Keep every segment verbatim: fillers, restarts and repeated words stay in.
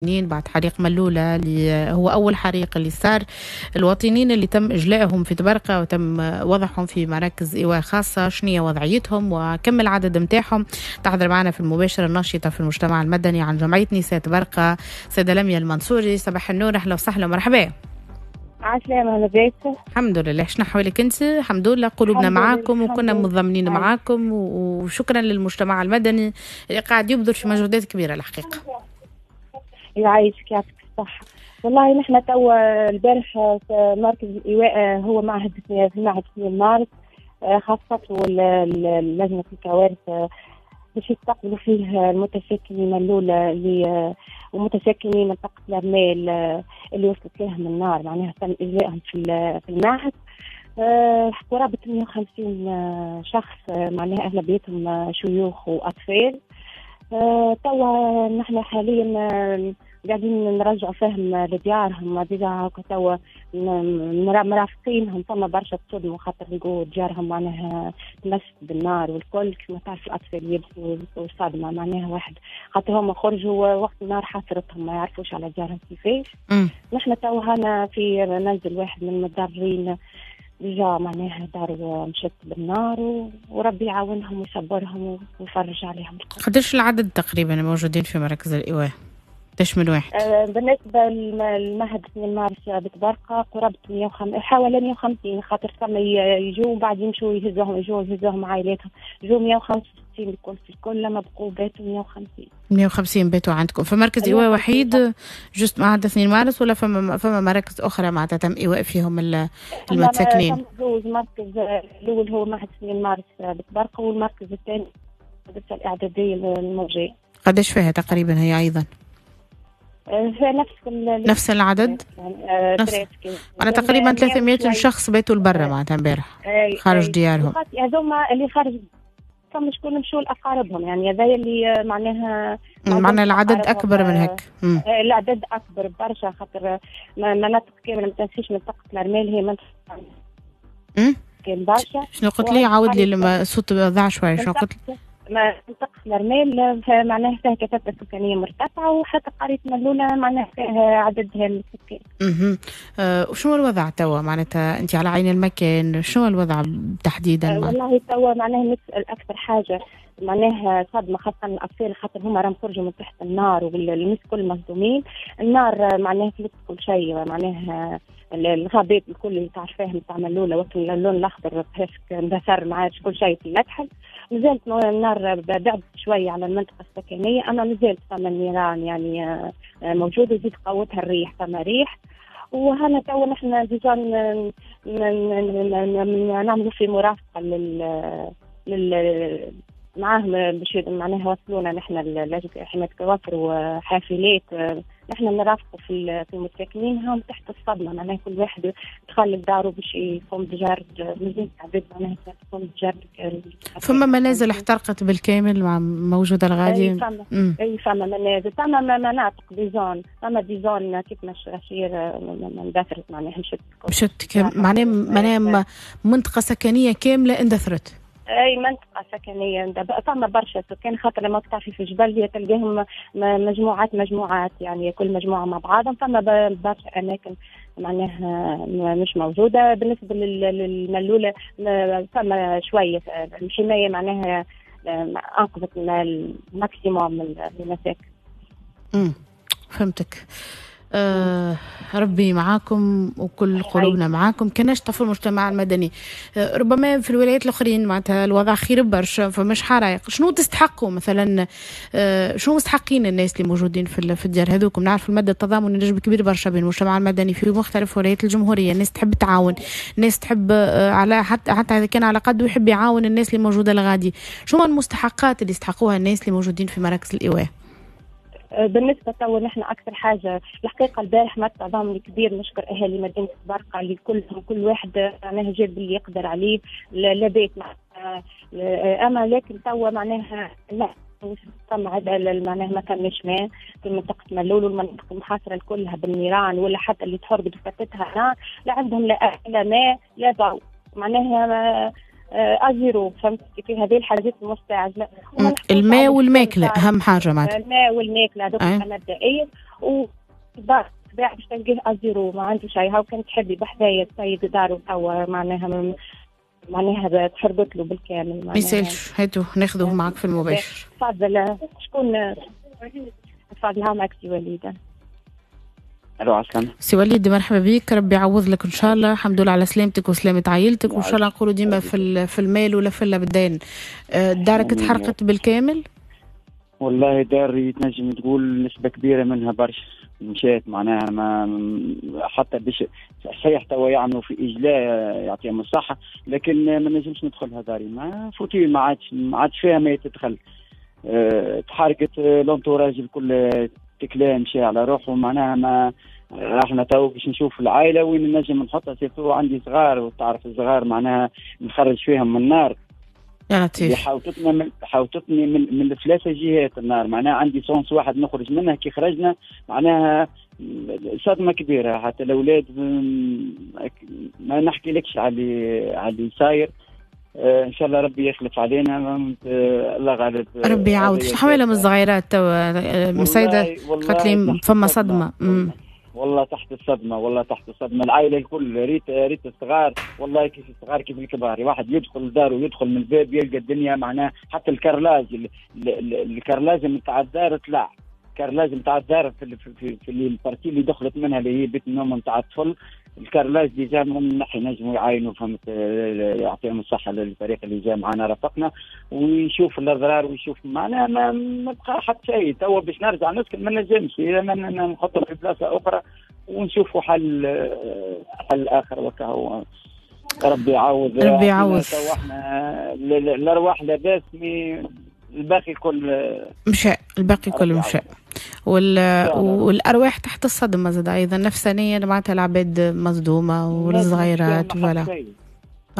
بعد حريق ملولة اللي هو أول حريق اللي صار، الوطنيين اللي تم إجلائهم في طبرقة وتم وضعهم في مراكز إيواء خاصة، شنية وضعيتهم وكم العدد متاعهم؟ تحضر معنا في المباشر الناشطة في المجتمع المدني عن جمعية نساء طبرقة سيدة لميا المنصوري. صباح النور، أهلا وسهلا ومرحبا. عسلامة، لاباس؟ الحمد لله. شنو حوالك انت؟ الحمد لله، قلوبنا معاكم وكنا متضامنين معاكم، وشكرا للمجتمع المدني اللي قاعد يبذل في مجهودات كبيرة الحقيقة. يعيشك، يعطيك الصحة. والله نحن توا البارح في مركز الإيواء هو معهد في معهد اثنين مارس، خاصته لجنة الكوارث باش يستقبلوا فيه المتساكنين الأولى اللي ومتساكنين منطقة الرمال اللي وصلت لهم النار، معناها تم إجلائهم في في المعهد. قرابة مئة وخمسين شخص، معناها أغلبيتهم شيوخ وأطفال. توا نحن حاليا قاعدين نرجعوا فيهم لديارهم، déjà توا مرافقينهم. فما برشا تصدموا خاطر لقوا ديارهم معناها تمست بالنار والكل، كما تعرف الاطفال يبكوا صدمة معناها واحد، خاطر هما خرجوا وقت النار حاصرتهم ما يعرفوش على ديارهم كيفاش. نحن توا هنا في منزل واحد من المتضررين déjà معناها دار مشت بالنار، وربي يعاونهم ويصبرهم ويفرج عليهم. قداش العدد تقريبا الموجودين في مراكز الإيواء؟ قداش من واحد؟ آه بالنسبة للمعهد اثنين مارس بطبرقة قرابة مئة وخمسين، حوالي مئة وخمسين، خاطر ثم يجوا وبعد يمشوا يهزوهم، يجوا يهزوهم عائلاتهم، يجوا مئة وخمسة وستين الكل في الكل، لما بقوا باتوا مئة وخمسين. مئة وخمسين باتوا عندكم في مركز إيواء وحيد juste معهد اثنين مارس، ولا فما فما مراكز أخرى معناتها تم إيواء فيهم المتساكنين؟ فما زوج مركز، الأول هو معهد اثنين مارس بطبرقة، والمركز الثاني المدرسة الإعدادية الموجية. قداش فيها تقريبا هي أيضا؟ نفس نفس العدد؟ نفس أنا تقريبا ثلاثمئة شخص باتوا لبرا معناتها امبارح خارج ديارهم. هذوما اللي خارج فما شكون مشوا لأقاربهم، يعني هذا اللي معناها معناها العدد أكبر من هيك. العدد أكبر برشا، خاطر مناطق كاملة ما تنسيش منطقة الرمال هي منطقة كان برشا. شنو قلت لي؟ عاود لي لما الصوت ضاع شوية، شنو قلت لي؟ منطقة الرمال معناها فيها كثافة سكانية مرتفعة، وحتى قرية ملولة معناها فيها عدد هام السكان. اها أه وشنو الوضع توا معناتها أنت على عين المكان، شنو الوضع تحديدا؟ أه والله توا معناها نسأل أكثر حاجة معناها صدمة خاصة الأطفال، خاطر هما راهم خرجوا من تحت النار والناس كل مصدومين. النار معناها فلت كل شيء، معناها الغابات الكل اللي تعرفاهم تاع ملولة وقت اللون الأخضر presque اندثر، ما عادش كل شيء في المدحل. مازالت النار بعدت شوية على المنطقة السكنية، أما مازالت فما النيران يعني موجودة، وزيد قوتها الريح، فما ريح. وهنا توا نحن déjà نعملوا في مرافقة لل لل معاهم باش معناها وصلونا نحن لجنة حماية الكوافر وحافلات، نحن نرافقوا في في المتساكنين هم تحت الصدمة، معناها كل واحد دخل لداره باش يقوم بجرد، مازال عباد معناها تقوم بجرد. فما منازل احترقت بالكامل مع موجودة الغادي؟ اي فما، اي فما منازل، فما مناطق des zones، فما des zones كيف ما الشراشير اندثرت معناها مشت مشت معناها معناها منطقة سكنية كاملة اندثرت. اي منطقة سكنية فما برشا سكان، خاطر لما تعرفي في الجبل هي تلقاهم مجموعات مجموعات، يعني كل مجموعة مع بعضهم، فما برشا اماكن معناها مش موجودة. بالنسبة للملوله فما شوية الحماية معناها انقذت ال maximum من المساكن. امم فهمتك. آه ربي معاكم وكل قلوبنا معاكم. كناش في المجتمع المدني، آه ربما في الولايات الاخرين معناتها الوضع خير برشا، فمش حرايق. شنو تستحقوا مثلا؟ آه شنو مستحقين الناس اللي موجودين في في الديار هذوكم؟ نعرف المدى التضامن نجم كبير برشا بين المجتمع المدني في مختلف ولايات الجمهورية. الناس تحب تعاون، الناس تحب آه على حتى حتى اذا كان على قد يحب يعاون الناس اللي موجودة الغادي. شنو المستحقات اللي يستحقوها الناس اللي موجودين في مراكز الايواء؟ بالنسبة تو نحن أكثر حاجة الحقيقة البارح مع التضامن الكبير، نشكر أهالي مدينة طبرقة اللي كلهم كل واحد معناها جاب اللي يقدر عليه لبيت، أما لكن تو معناها لا فما معناها ما كانش ماء في منطقة ملول والمنطقة المحاصرة كلها بالنيران، ولا حتى اللي تحرقت وفتتها نار، لا عندهم لا لا ماء لا ضوء، معناها à zéro. فهمت كيف؟ هذه الحاجات المستعجله، الماء والماكله اهم حاجة معناتها، الماء والماكله هذوك مبدئيا. و الدار باش تلقيه à zéro، ما عنده شيء. هاو كان تحبي بحذايا السيد دارو توا معناها معناها تحرقت له بالكامل. ما يسالش، هاتو ناخذوه معك في المباشر. تفضل. شكون؟ تفضل، ها معك سي وليد. الو عسلامة سي وليد، مرحبا بك، ربي يعوض لك ان شاء الله. الحمد لله على سلامتك وسلامة عائلتك، وان شاء الله نقولوا ديما في في المال ولا في البدان. دارك تحرقت بالكامل؟ والله داري تنجم تقول نسبة كبيرة منها برشا مشات، معناها ما حتى باش صحيح توا يعملوا في إجلاء يعطيهم الصحة، لكن ما نجمش ندخلها داري، ما فوتي، ما عادش ما عادش فيها ما يتدخل. أه تحركت l'entourage الكل، تكلام مشى على روحه، معناها ما احنا تو باش نشوف العائلة وين نجم نحطها، surtout عندي صغار وتعرف الصغار معناها نخرج فيهم من النار. يا لطيف. حاوطتنا من حاوطتني من من ثلاثة جهات النار، معناها عندي sens واحد نخرج منها، كي خرجنا معناها صدمة كبيرة، حتى الأولاد ما نحكي لكش على على اللي صاير. آه ان شاء الله ربي يخلف علينا، الله غالب، ربي يعاود. شو حوالهم الصغيرات توا مسيدة؟ قالت لي فما صدمة. والله, والله تحت الصدمة، والله تحت الصدمة العائلة الكل، ريت ريت الصغار والله كيف الصغار كيف الكبار، واحد يدخل الدار ويدخل من الباب يلقى الدنيا معناها حتى ال carrelage ال carrelage نتاع الدار طلع، ال carrelage نتاع الدار في في في ال partie اللي دخلت منها اللي هي بيت النوم نتاع الطفل، ال carrelage déjà من نحي نجموا يعاينوا، فهمت، يعطيهم الصحة للفريق اللي جا معنا رافقنا ويشوف الاضرار ويشوف معناها ما, ما بقى حتى شيء. توا باش نرجع نسكن ما نجمش، اذا ما نحطه في بلاصة اخرى ونشوفوا حل حل اخر وكهو. ربي يعوض، ربي يعوض. توا احنا الارواح لاباس، الباقي كل مشى، الباقي كل مشى، وال... والارواح تحت الصدمة زاد ايضا نفسانيا، معناتها العباد مصدومة والصغيرات voilà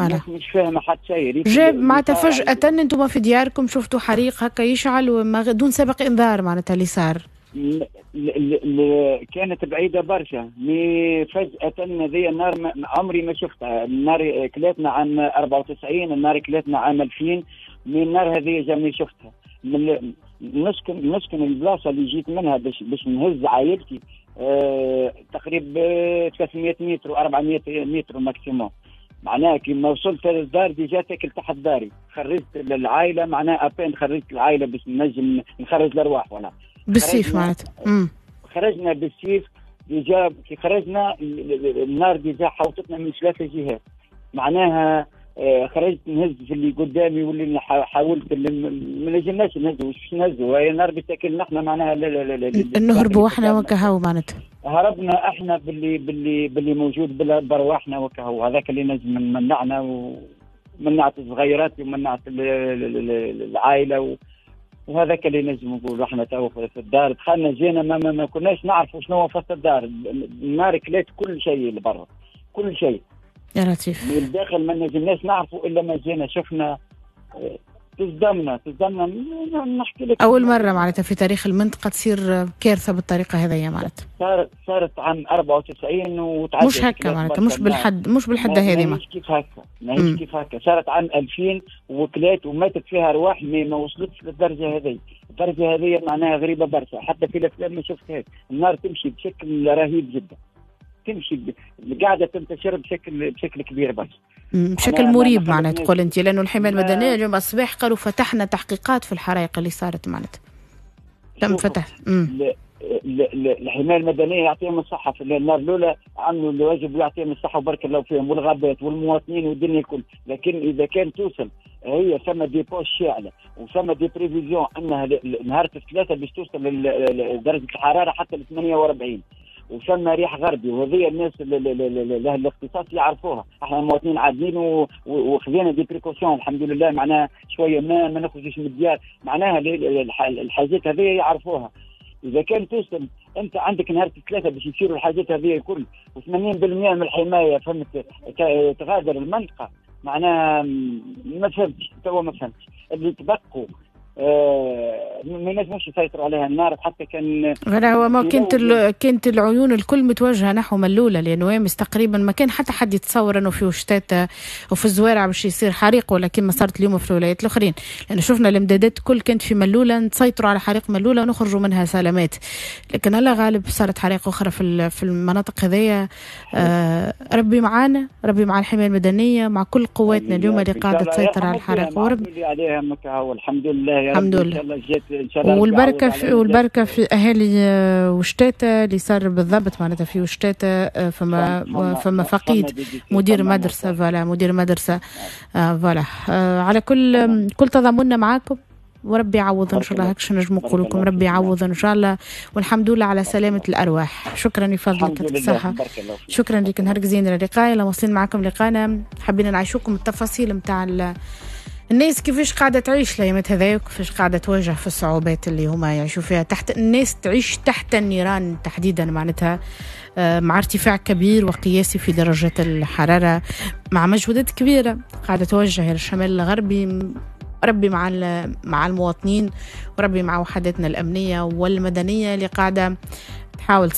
voilà مش فاهمه حتى شيء. جاب معناتها فجاة انتم في دياركم شفتوا حريق هكا يشعل وما دون سابق انذار، معناتها اللي صار ل... ل... ل... كانت بعيدة برشا، mais فجاة هذه النار ما... عمري ما شفتها. النار كلاتنا عام أربعة وتسعين، النار كلاتنا عام ألفين، mais النار هذه jamais شفتها. من نسكن نسكن البلاصة اللي جيت منها باش باش نهز عائلتي أه تقريبا ثلاثمية متر وأربعمية متر maximum، معناها كي ما وصلت للدار déjà تاكل تحت داري، خرجت العائلة معناها à peine خرجت العائلة باش نجم نخرج الارواح ولا بالسيف معناتها. خرجنا بالسيف déjà، كي خرجنا النار déjà حوطتنا من ثلاثة جهات، معناها خرجت نهز في اللي قدامي واللي حاولت اللي ما نجمناش نهزوا، باش نهزوا هي النار بتاكلنا احنا معناها. نهربوا احنا وكهو معناتها، هربنا احنا باللي باللي باللي موجود برواحنا وكهو، هذاك اللي نجم منعنا ومنعت الصغيرات ومنعت العائلة و... وهذاك اللي نجم نقولوا احنا تو في الدار دخلنا جينا ما, ما, ما كناش نعرفوا شنو في الدار، النار كلات كل شيء اللي برا، كل شيء يا لطيف. من الداخل ما نجمناش نعرفوا الا ما جينا شفنا، تصدمنا تصدمنا نحكي لك. اول مرة معناتها في تاريخ المنطقة تصير كارثة بالطريقة هذه معناتها. صارت صارت عام أربعة وتسعين وتعدت، مش هكا معناتها، مش بالحد مش بالحد هذه، ماهيش كيف هكا، ماهيش كيف هكا. صارت عام ألفين وكلات وماتت فيها ارواح، ما وصلتش للدرجة هذه. الدرجة هذه معناها غريبة برشا، حتى في الافلام ما شفتهاش. النار تمشي بشكل رهيب جدا، تمشي ب... قاعدة تنتشر بشكل بشكل كبير برشا، بشكل مريب معناتها تقول انت، لانه الحماية المدنية اليوم الصباح قالوا فتحنا تحقيقات في الحرائق اللي صارت معناتها تم فتح. الحماية المدنية يعطيهم الصحة في النار الاولى، عملوا الواجب ويعطيهم الصحة وبارك الله فيهم، والغابات والمواطنين والدنيا الكل. لكن اذا كان توصل هي ثم des poches شاعله وثم des prévisions انها نهار الثلاثاء باش توصل لدرجة الحرارة حتى ل ثمانية وأربعين، وثم ريح غربي، وهذه الناس اللي الاختصاص يعرفوها. احنا المواطنين عادلين وخذينا des précautions الحمد لله، معناها شوية ما ما نخرجوش من الديار، معناها الحاجات هذه يعرفوها. اذا كان توصل انت عندك نهار الثلاثاء باش يصيروا الحاجات هذه الكل، وثمانين بالمئة من الحماية فهمت تغادر المنطقة، معناها ما فهمتش توا، ما فهمتش اللي تبقوا آه ما نجموش يسيطروا عليها النار حتى كان غير هو ما كانت كانت العيون الكل متوجهه نحو ملوله، لانه امس تقريبا ما كان حتى حد يتصور انه في وشتات وفي الزوارع باش يصير حريق، ولا كما صارت اليوم في الولايات الاخرين، لانه شفنا الامدادات كل كانت في ملوله، نسيطروا على حريق ملوله ونخرجوا منها سلامات، لكن الله غالب صارت حريق اخرى في في المناطق هذيا. آه ربي معانا، ربي مع الحماية المدنية، مع كل قواتنا اليوم اللي قاعدة تسيطر على الحريق، وربي عليها والحمد لله يا رب. الحمد لله. إن شاء الله والبركة في والبركة في اهالي وشتاته اللي صار بالضبط معناتها في وشتاته، فما فما فقيد مدير مدرسه، voilà مدير مدرسه، voilà. على كل كل تضامننا معاكم وربي يعوض ان شاء الله، هكش نجم نقول لكم ربي يعوض ان شاء الله، والحمد لله على سلامه الارواح. شكرا لفضلك الصحة، شكرا لك، نهارك زين. اللقاء يلا واصلين معكم لقانا، حبينا نعيشوكم التفاصيل نتاع الناس كيفاش قاعدة تعيش الأيامات هذايا، وكيفاش قاعدة تواجه في الصعوبات اللي هما يعيشوا فيها، تحت الناس تعيش تحت النيران تحديدا معناتها، مع ارتفاع كبير وقياسي في درجة الحرارة، مع مجهودات كبيرة قاعدة توجه للشمال الغربي. ربي مع مع المواطنين، وربي مع وحداتنا الأمنية والمدنية اللي قاعدة تحاول